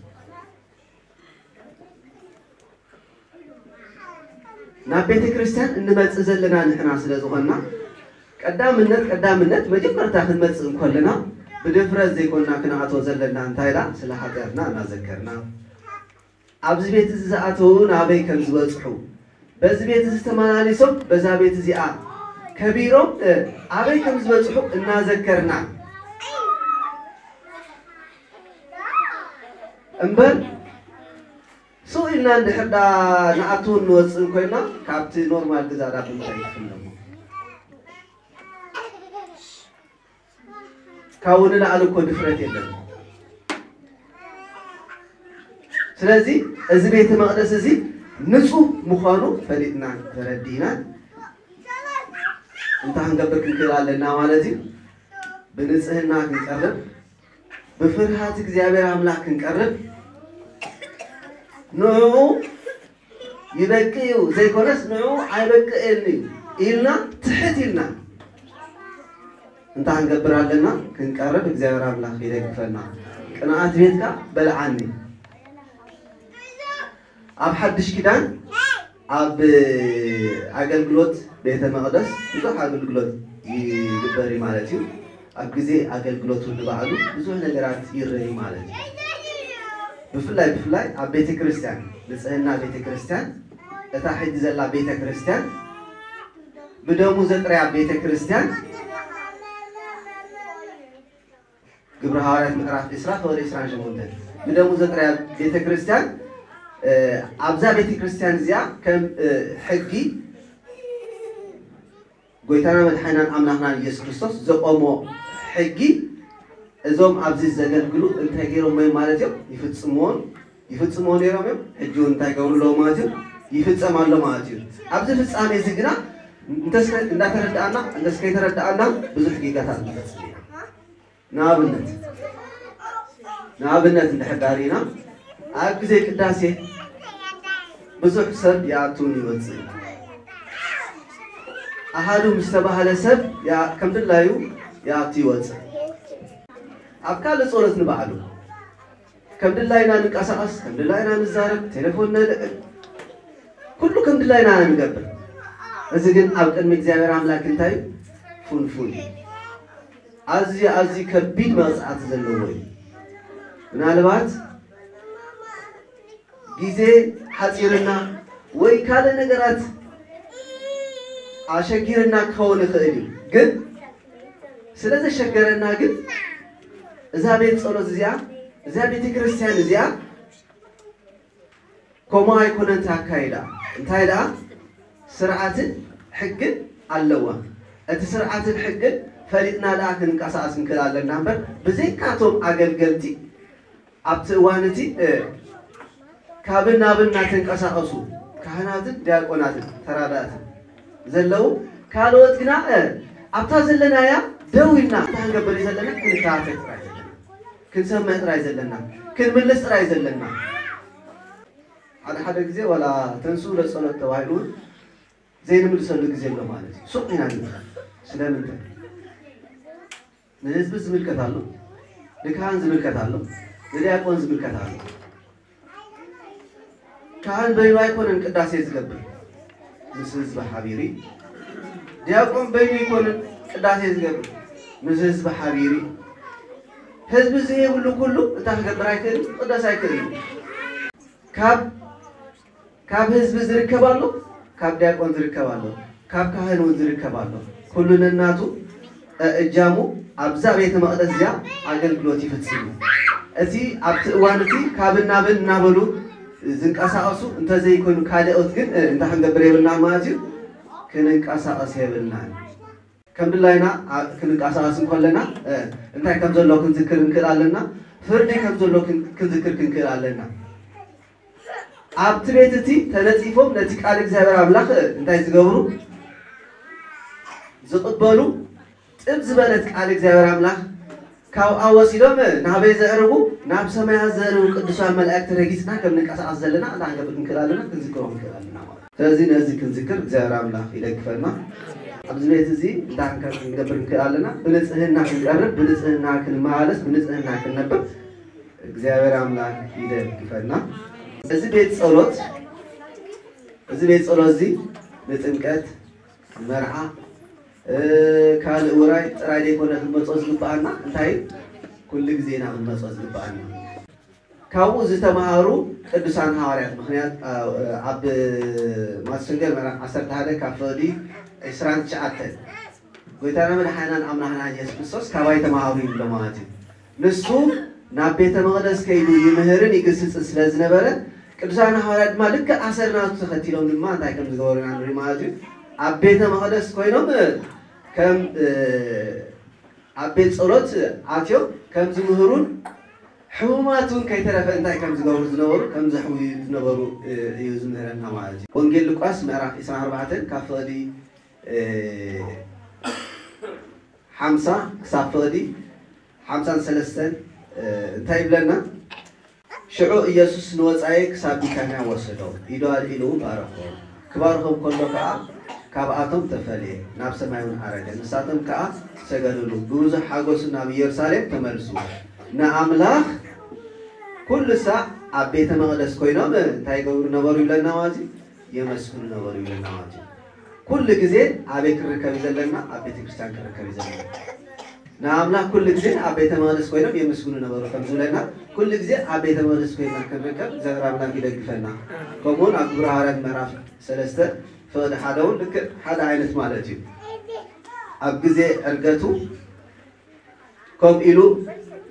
ናብ ቤተ ክርስቲያን እንመጽእ ዘለና ንሕና ስለ ዝኾንና ቀዳምነት ቀዳምነት መጀመርታ ክንመጽእ እንከለና ብድፍረት ዘይኮንና ክንኣቶ ዘለና እንታይ ኢላ ስለ ሓጢኣትና እናዘከርና ኣብዚ ቤት እዚ ዝኣተዉ ናበይ ከም ዝበጽሑ በዚ ቤት እዚ ተመላሊሶም በዛ ቤት እዚኣ ከቢሮም ኣበይ ከም ዝበጽሑ እናዘከርና እምበር ስቕ ኢልና እንድሕር ዳ ንኣትውን ንወፅእን ኮይና ካብቲ ኖርማል ግዛ ዳ ብምንታይ ትፍለሞ? ካብኡ ንላዕሊ እኮ ድፍረት የለን። ስለዚ እዚ ቤተ መቕደስ እዚ ንጹህ ምዃኑ ፈሊጥና ተረዲእና እንታይ ክንገብር ክንክእል ኣለና ማለት እዩ። ብንጽህና ክንቀርብ ብፍርሃት እግዚኣብሔር ኣምላኽ ክንቀርብ ንዕኡ ይበቂ እዩ ዘይኮነስ ንዕኡ ኣይበቅእን እዩ ኢልና ትሕት ኢልና እንታይ ክንገብር ኣለና? ክንቀርብ እግዚኣብሔር ኣምላኽ ይደግፈና። ቅንኣት ቤትካ በልዓኒ። ኣብ ሓድሽ ኪዳን ኣብ ኣገልግሎት ቤተ መቕደስ ብዙሕ ኣገልግሎት ይግበር እዩ ማለት እዩ። ኣብ ግዜ ኣገልግሎቱ ንባዕሉ ብዙሕ ነገራት ይረይ ማለት እዩ። ብፍላይ ብፍላይ ኣብ ቤተ ክርስቲያን ንጽህና ቤተ ክርስቲያን እታ ሕጂ ዘላ ቤተ ክርስቲያን ብደሙ ዘጥረያ ቤተ ክርስቲያን ግብረ ሃዋርያት ምዕራፍ ዕስራ ፍቕዲ ዕስራን ሸሞንተን ብደሙ ዘጥረያ ቤተ ክርስቲያን ኣብዛ ቤተ ክርስቲያን እዚኣ ከም ሕጊ ጎይታና መድሓኒናን ኣምላኽናን ኢየሱስ ክርስቶስ ዘቆሞ ሕጊ እዞም ኣብዚ ዘገልግሉ እንታይ ገይሮም እዮም ማለት እዮም? ይፍጽምዎን ይፍጽምዎ ነይሮም እዮም። ሕጂ እውን እንታይ ገብሩ ኣለዎ ማለት እዩ? ይፍጸም ኣሎ ማለት እዩ። ኣብዚ ፍጻሜ እዚ ግና እንተስከ እንዳተረዳኣና እንተስከይተረዳኣና ብዙሕ ጌጋታት ንፈጽም ኢና። ንኣብነት ንኣብነት እንድሕር ዳሪና ኣብ ግዜ ቅዳሴ ብዙሕ ሰብ ይኣቱን ይወፅእ። ኣሃዱ ምስ ተባህለ ሰብ ከም ድላዩ ይኣቱ ይወፅእ። ኣብ ካልእ ጸሎት ንባዕሉ ከም ድላይና ንንቀሳቐስ፣ ከም ድላይና ንዛረብ፣ ቴሌፎን ነልዕል፣ ኩሉ ከም ድላይና ንገብር። እዚ ግን ኣብ ቅድሚ እግዚኣብሔር ኣምላክ እንታይ ፍንፉን እዩ። ኣዝዩ ኣዝዩ ከቢድ መቕጻዕቲ ዘለዎ እዩ። ምናልባት ግዜ ሓጺርና ወይ ካልእ ነገራት ኣሸጊርና ክኸውን ይኽእል እዩ። ግን ስለ ዘሸገረና ግን እዛ ቤት ጸሎት እዚኣ እዛ ቤተ ክርስቲያን እዚኣ ከምኡ ኣይኮነን እቲ ኣካይዳ። እንታይ ደኣ ስርዓትን ሕግን ኣለዋ። እቲ ስርዓትን ሕግን ፈሊጥና ደኣ ክንቀሳቐስ ክንክእል ኣለና እምበር ብዘይካቶም ኣገልገልቲ ኣብቲ እዋን እቲ ካብን ናብን እናተንቀሳቐሱ ካህናትን ዲያቆናትን ተራዳእትን ዘለዉ ካልኦት ግና ኣብታ ዘለናያ ደው ኢልና እንታይ ክንገብር እዩ ዘለና? ክንከታተል ጥራይ ዘለና፣ ክንሰምዕ ጥራይ ዘለና፣ ክንምልስ ጥራይ ዘለና። ሓደ ሓደ ግዜ ዋላ ተንሱ ለጸሎት ተባሂሉ እውን ዘይንምልሰሉ ግዜ ኣሎ ማለት እዩ። ሱቕ ኢና ንብል። ስለምንታይ? ንህዝቢ ዝምልከት ኣሎ፣ ንካህን ዝምልከት ኣሎ፣ ንዲያቆን ዝምልከት ኣሎ። ካህን በይኑ ኣይኮነን ቅዳሴ ዝገብር፣ ምስ ህዝቢ ሓቢሩ። ዲያቆን በይኑ ኣይኮነን ቅዳሴ ዝገብር፣ ምስ ህዝቢ ሓቢሩ። ህዝቢ ዘይብሉ ኩሉ እንታይ ክገብር ኣይክእልን፣ ክቅደስ ኣይክእልን። ካብ ካብ ህዝቢ ዝርከብ ኣሎ፣ ካብ ዲያቆን ዝርከብ ኣሎ፣ ካብ ካህን እውን ዝርከብ ኣሎ። ኩሉ ነናቱ እጃሙ ኣብዛ ቤተ መቕደስ እዚኣ ኣገልግሎት ይፍጽም። እቲ ኣብቲ እዋን እቲ ካብን ናብን እናበሉ ዝንቀሳቐሱ እንተዘይኮይኑ ካልኦት ግን እንታይ ክንገብር የብልና ማለት እዩ፣ ክንንቀሳቐስ የብልና። ከም ድላይና ክንንቀሳቐስ እንከለና እንታይ ከም ዘሎ ክንዝክር እንክእል ኣለና፣ ፍርዲ ከም ዘሎ ክንዝክር ክንክእል ኣለና። ኣብቲ ቤት እቲ ተነጺፎም ነቲ ቃል እግዚኣብሔር ኣምላኽ እንታይ ዝገብሩ? ዝቕበሉ። ጥብ ዝበለት ቃል እግዚኣብሔር ኣምላኽ ካብኣ ወሲዶም ናበይ ዘዕርጉ? ናብ ሰማያት ዘዕርጉ ቅዱሳን መላእክቲ ረጊጽና ከም ንንቀሳቐስ ዘለና እንታይ ክንገብር ክንክእል ኣለና? ክንዝክሮ ክንክእል ኣለና ማለት እዩ። ስለዚ ነዚ ክንዝክር እግዚኣብሔር ኣምላኽ ይደግፈና። ኣብዚ ቤት እዚ እንታይ ክንገብር ክንክእል ኣለና? ብንጽህና ክንቀርብ፣ ብንጽህና ክንመላለስ፣ ብንጽህና ክንነብር እግዚኣብሔር ኣምላኽ ይደግፈና። እዚ ቤት ጸሎት፣ እዚ ቤት ጸሎት እዚ ንጥምቀት፣ ንመርዓ፣ ካልእ ውራይ ጥራይ ዘይኮነ ክንመጾ ዝግብኣና እንታይ ኩሉ ግዜ ኢና ክንመጾ ዝግብኣና። ካብኡ ዝተማሃሩ ቅዱሳን ሃዋርያት ምኽንያት ኣብ ማቴዎስ ወንጌል ምዕራፍ ዓሰርተ ሓደ ካብ ፍቕዲ ዕስራን ትሽዓተን ጎይታና መድሓናን ኣምላኽና ኢየሱስ ክርስቶስ ካባይ ተማሃሩ ይብሎ ማለት እዩ። ንሱ ናብ ቤተ መቕደስ ከይዱ ይምህርን ይግስጽን ስለ ዝነበረ ቅዱሳን ሃዋርያት ድማ ልክዕ ኣሰር ናቱ ተኸቲሎም ድማ እንታይ ከም ዝገበሩ ኢና ንርኢ ማለት እዩ። ኣብ ቤተ መቕደስ ኮይኖም ከም ኣብ ቤት ጸሎት ኣትዮም ከም ዝምህሩን ሕሙማት እውን ከይተረፈ እንታይ ከም ዝገብሩ ዝነበሩ ከም ዘሕውዩ ዝነበሩ እዩ ዝምህረና ማለት እዩ። ወንጌል ሉቃስ ምዕራፍ ዕስራን ኣርባዕተን ካብ ፍቕዲ ሓምሳ ክሳብ ፍቕዲ ሓምሳን ሰለስተን እንታይ ይብለና? ሽዑ ኢየሱስ ንወጻኢ ክሳብ ቢታንያ ወሰዶም፣ ኢዱ ኣልዒሉ ባረኾም። ክባርኾም ከሎ ከኣ ካብኣቶም ተፈልየ፣ ናብ ሰማይ እውን ዓረገ። ንሳቶም ከኣ ሰገዱሉ፣ ብብዙሕ ሓጎስ ናብ ኢየሩሳሌም ተመልሱ። ንኣምላኽ ኩሉ ሳዕ ኣብ ቤተ መቕደስ ኮይኖም እንታይ ይገብሩ ነበሩ ይብለና ማለት እዩ? የመስግኑ ነበሩ ይብለና ማለት እዩ። ኩሉ ግዜ ኣበይ ክንርከብ እዩ ዘለና? ኣብ ቤተ ክርስቲያን ክንርከብ እዩ ዘለና። ንኣምላኽ ኩሉ ግዜ ኣብ ቤተ መቕደስ ኮይኖም የመስግኑ ነበሩ ከም ዝብለና ኩሉ ግዜ ኣብ ቤተ መቕደስ ኮይና ክንርከብ እግዚኣብሔር ኣምላኽ ይደግፈና። ከምኡውን ኣብ ግብረ ሃዋርያት ምዕራፍ ሰለስተ ፍቕዲ ሓደ እውን ልክዕ ሓደ ዓይነት ማለት እዩ። ኣብ ግዜ ዕርገቱ ከምኡ ኢሉ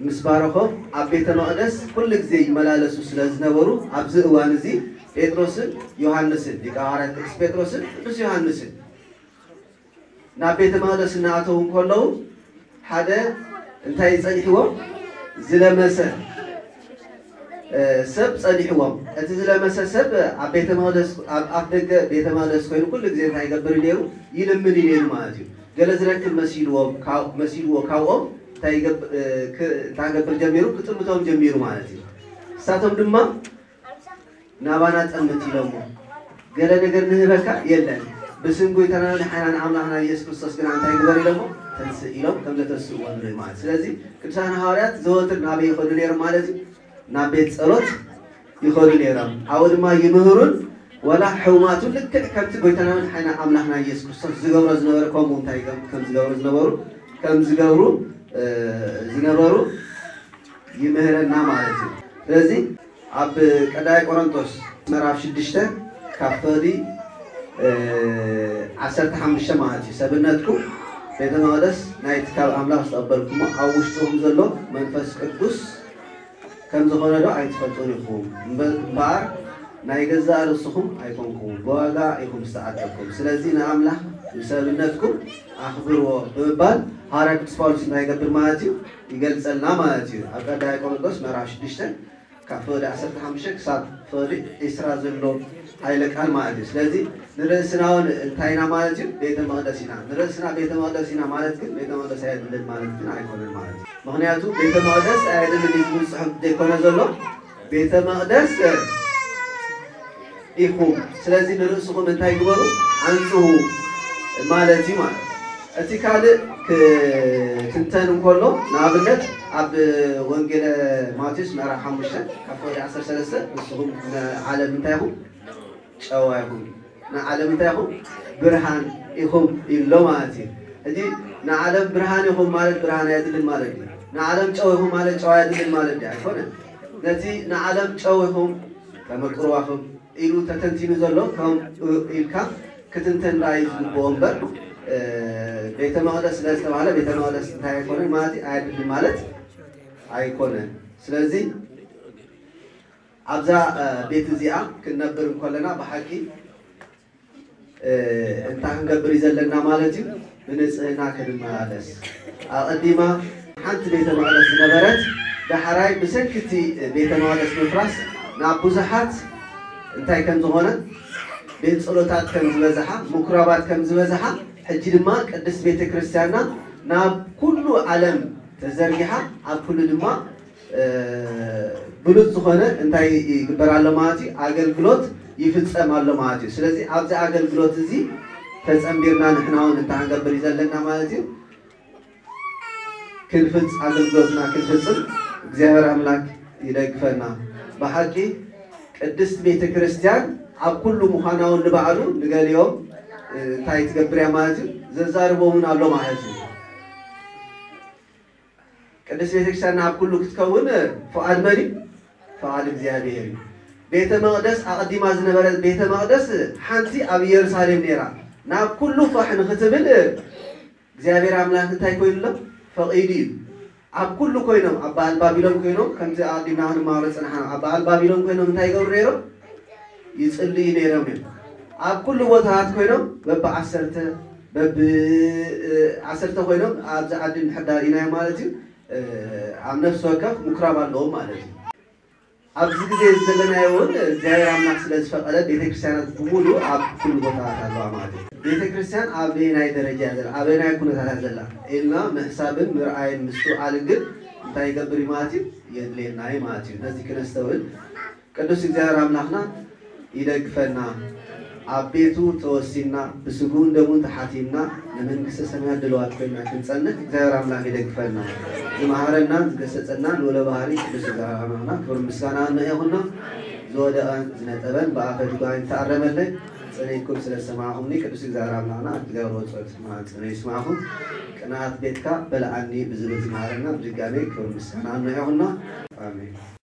ምስ ባረኾም ኣብ ቤተ መቕደስ ኩሉ ግዜ ይመላለሱ ስለ ዝነበሩ ኣብዚ እዋን እዚ ጴጥሮስን ዮሃንስን ሊቀ ሃዋርያት ቅዱስ ጴጥሮስን ቅዱስ ዮሃንስን ናብ ቤተ መቕደስ እናኣተዉ እንከለዉ ሓደ እንታይ ጸኒሕዎም? ዝለመሰ ሰብ ጸኒሕዎም። እቲ ዝለመሰ ሰብ ኣብ ቤተ መቕደስ ኣብ ኣፍ ደገ ቤተ መቕደስ ኮይኑ ኩሉ ግዜ እንታይ ይገብር እዩ ነይሩ? ይልምን እዩ ነይሩ ማለት እዩ። ገለ ዝረክብ መሲልዎም መሲልዎ ካብኦም እንታይ ክገብር ጀሚሩ? ክጥምቶም ጀሚሩ ማለት እዩ። እሳቶም ድማ ናባና ጠምት ኢሎሞ ገለ ነገር ንህበካ የለን ብስም ጎይታና ንሓናን ኣምላኽና ኢየሱስ ክርስቶስ ግና እንታይ ግበር ኢሎሞ ተንስእ ኢሎም ከም ዘተስእዎ ንርኢ ማለት። ስለዚ ቅዱሳን ሃዋርያት ዘወትር ናበይ ይኸዱ ነይሮም ማለት እዩ? ናብ ቤት ጸሎት ይኸዱ ነይሮም። ኣብኡ ድማ ይምህሩን ወላ ሕሙማቱ ልክዕ ከምቲ ጎይታና መድሓኒና ኣምላኽና ኢየሱስ ክርስቶስ ዝገብሮ ዝነበረ ከምኡ እንታይ ከም ዝገብሩ ዝነበሩ ከም ዝገብሩ ዝነበሩ ይምህረና ማለት እዩ። ስለዚ ኣብ ቀዳማይ ቆሮንቶስ ምዕራፍ ሽዱሽተ ካብ ፍቕዲ ዓሰርተ ሓሙሽተ ማለት እዩ። ሰብነትኩም ቤተ መቕደስ ናይቲ ካብ ኣምላኽ ዝተቐበልኩሞ ኣብ ውሽጥኹም ዘሎ መንፈስ ቅዱስ ከም ዝኾነ ዶ ኣይትፈልጡን ኢኹም? እምበ- እምበኣር ናይ ገዛእ ርእስኹም ኣይኮንኩምን፣ ብዋጋ ኢኹም ዝተዓደግኩም። ስለዚ ንኣምላኽ ብሰብነትኩም ኣኽብርዎ ብምባል ሃዋርያ ቅዱስ ጳውሎስ እንታይ ይገብር ማለት እዩ? ይገልጸልና ማለት እዩ። ኣብ ቀዳማይ ቆሮንቶስ ምዕራፍ ሽዱሽተ ካብ ፍቕዲ ዓሰርተ ሓሙሽተ ክሳብ ፍቕዲ ዕስራ ዘሎ ሓይለ ቃል ማለት እዩ። ስለዚ ንርእስና እውን እንታይ ኢና ማለት እዩ? ቤተ መቕደስ ኢና። ንርእስና ቤተ መቕደስ ኢና ማለት ግን ቤተ መቐደስ ኣየድልን ማለት ግን ኣይኮነን ማለት እዩ። ምኽንያቱ ቤተ መቐደስ ኣየድልን እዩ ዝብል ጽሑፍ ዘይኮነ ዘሎ፣ ቤተ መቐደስ ኢኹም። ስለዚ ንርእስኹም እንታይ ግበሩ? ኣንጽሁ ማለት እዩ ማለት እዩ። እቲ ካልእ ክትንተን እንከሎ፣ ንኣብነት ኣብ ወንጌለ ማቴዎስ ምዕራፍ ሓሙሽተ ካብ ፍቕዲ ዓሰርተ ሰለስተ፣ ንስኹም ንዓለም እንታይ ኢኹም? ጨው ኢኹም። ንዓለም እንታይ ኢኹም? ብርሃን ኢኹም ኢሎ ማለት እዩ። ሕጂ ንዓለም ብርሃን ኢኹም ማለት ብርሃን ኣየድልን ማለት እዩ። ንዓለም ጨው ኢኹም ማለት ጨው ኣየድልን ማለት እዩ። ኣይኮነን። ነቲ ንዓለም ጨው ኢኹም፣ ተመቅርዋኹም ኢሉ ተተንቲኑ ዘሎ ከም ኢልካ ክትንተን ራእይ ዝግብኦ እምበር፣ እ፣ ቤተ መቕደስ ስለ ዝተባህለ ቤተ መቕደስ እንታይ ኣይኮነን ማለት እዩ፣ ኣየድልን ማለት ኣይኮነን። ስለዚ ኣብዛ፣ እ፣ ቤት እዚኣ ክንነብር እንከለና ብሓቂ፣ እ፣ እንታይ ክንገብር እዩ ዘለና ማለት እዩ? ብንጽህና ክንመላለስ። ኣቐዲማ ሓንቲ ቤተ መቕደስ ዝነበረት፣ ዳሕራይ ብሰንኪ እቲ ቤተ መቕደስ ምፍራስ ናብ ብዙሓት እንታይ ከም ዝኾነ፣ ቤት ጸሎታት ከም ዝበዝሓ፣ ምኩራባት ከም ዝበዝሓ፣ ሕጂ ድማ ቅድስት ቤተ ክርስቲያንና ናብ ኩሉ ዓለም ተዘርጊሓ፣ ኣብ ኩሉ ድማ፣ እ፣ ብሉጽ ዝኾነ እንታይ ይግበር ኣሎ ማለት እዩ? ኣገልግሎት ይፍጸም ኣሎ ማለት እዩ። ስለዚ ኣብዚ ኣገልግሎት እዚ ተጸንቢርና ንሕና እውን እንታይ ክንገብር እዩ ዘለና ማለት እዩ? ክንፍጽ-፣ ኣገልግሎትና ክንፍጽም እግዚኣብሔር ኣምላክ ይደግፈና። ብሓቂ ቅድስት ቤተ ክርስቲያን ኣብ ኩሉ ምዃና እውን ንባዕሉ ንገሊኦም፣ እ፣ እንታይ ትገብር እያ ማለት እዩ? ዘዛርቦም እውን ኣሎ ማለት እዩ። ቅድስት ቤተ ክርስቲያን ኣብ ኩሉ ክትከውን ፍቓድ መን እዩ? ፍቓድ እግዚኣብሔር እዩ። ቤተ መቕደስ ኣቐዲማ ዝነበረ ቤተ መቕደስ ሓንቲ ኣብ ኢየሩሳሌም ነይራ። ናብ ኩሉ ፋሕ ንክትብል እግዚኣብሔር ኣምላክ እንታይ ኮይኑሎም? ፈቒዱ እዩ። ኣብ ኩሉ ኮይኖም፣ ኣብ በዓል ባቢሎን ኮይኖም፣ ከምዚ ኣቐዲምና ክንመሃሮ ዝጸናሕና፣ ኣብ በዓል ባቢሎን ኮይኖም እንታይ ይገብሩ ነይሮም? ይጽልዩ ነይሮም እዮም። ኣብ ኩሉ ቦታታት ኮይኖም በብዓሰርተ፣ በብ-፣ እ፣ ዓሰርተ ኮይኖም ኣብዚ ዓዲ እንድሕር ዳርኢናዮ ማለት እዩ፣ እ፣ ኣብ ነፍሲ ወከፍ ምኩራብ ኣለዎም ማለት እዩ። ኣብዚ ግዜ ዘለናዮ እውን እግዚኣብሔር ኣምላክ ስለ ዝፈቐደ ቤተክርስትያናት ብምሉእ ኣብ ኩሉ ቦታታት ኣለዋ ማለት እዩ። ቤተክርስትያን ኣበየናይ ደረጃ እያ ዘላ፣ ኣበየናይ ኩነታት እያ ዘላ ኢልና ምሕሳብን ምርኣይን ምስትውዓልን ግን እንታይ ይገብር እዩ ማለት እዩ? የድልየና እዩ ማለት እዩ። ነዚ ክነስተውል ቅዱስ እግዚኣብሔር ኣምላኽና ይደግፈና። ኣብ ቤቱ ተወሲና፣ ብስግኡን ደሙን ተሓቲምና፣ ንመንግስተ ሰማያት ድልዋት ኮይና ክንጸንሕ እግዚኣብሔር ኣምላኽ ይደግፈና። ዝመሃረና፣ ዝገሰጸና ልዑለ ባህሪ ቅዱስ እግዚኣብሔር ኣምላኽና ክብሪ ምስጋና ንዕኡ ይኹኖ። ዝወደቐን ዝነጠበን ብኣፈ ድጓይ ተኣረመለይ። ጽን ኢልኩም ስለ ዝሰማዕኹምኒ ቅዱስ እግዚኣብሔር ኣምላኽና ኣብ ትገብርዎ ጸሎት ማህጸኖ ይስማዕኹም። ቅንኣት ቤትካ በልዓኒ ብዝብል ዝመሃረና ብድጋሜ ክብሪ ምስጋና ንዕኡ ይኹኖ። ኣሜን።